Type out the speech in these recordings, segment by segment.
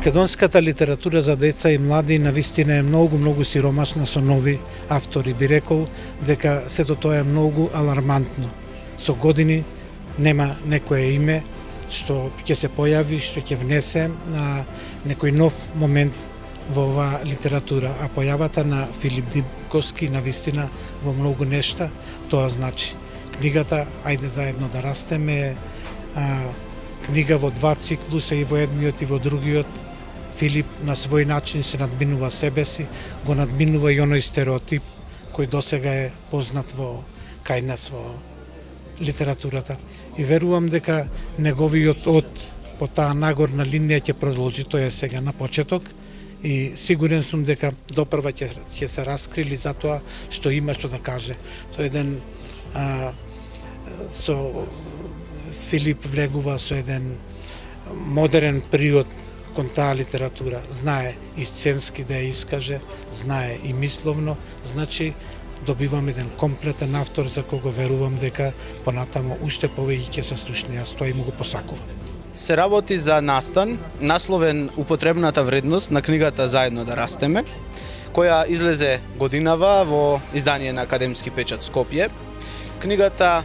Македонската литература за деца и млади навистина е многу сиромашна со нови автори. Би рекол дека сето тоа е многу алармантно. Со години нема некое име што ќе се појави, што ќе внесе на некој нов момент во оваа литература, а појавата на Филип Димковски навистина во многу нешта, тоа значи книгата Ајде заедно да растеме, книга во два циклуса, и во едниот и во другиот. Филип на свој начин се надминува себе си, го надминува и оној стереотип кој досега е познат кај нас во литературата. И верувам дека неговиот од по таа нагорна линија ќе продолжи, тоа е сега на почеток, и сигурен сум дека допрва ќе се раскрили за тоа што има што да каже. Тоа е еден со Филип влегува со еден модерен приод кон таа литература. Знае и сценски да ја искаже, знае и мисловно, значи добивам еден комплетен автор за кого верувам дека понатамо уште повеќе ќе се слушне, јас тоа и му го посакувам. Се работи за настан, насловен употребната вредност на книгата Заедно да растеме, која излезе годинава во издание на Академски печат Скопје. Книгата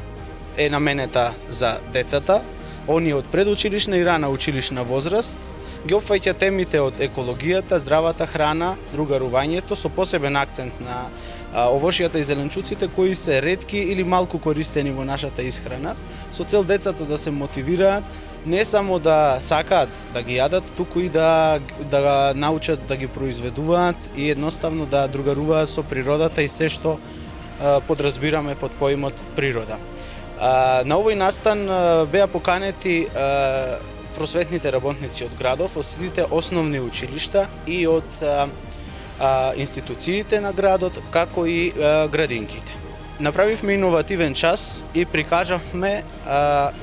е наменета за децата, оние од предучилишна и рана училишна возраст, ги опфаќа темите од екологијата, здравата храна, другарувањето, со посебен акцент на овошјата и зеленчуците кои се ретки или малку користени во нашата исхрана, со цел децата да се мотивираат не само да сакаат да ги јадат, туку и да научат да ги произведуваат и едноставно да другаруваат со природата и се што подразбираме под поимот природа. На овој настан беа поканети просветните работници од градов, од сите основни училишта и од институциите на градот, како и градинките. Направивме иновативен час и прикажавме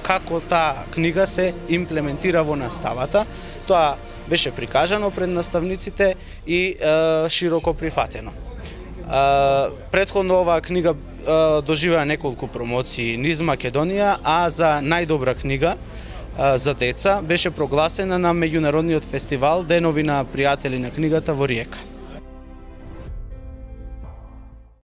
како таа книга се имплементира во наставата. Тоа беше прикажано пред наставниците и широко прифатено. Претходно оваа книга доживеа неколку промоции низ Македонија, а за најдобра книга за деца беше прогласена на меѓународниот фестивал Денови на пријатели на книгата во Риека.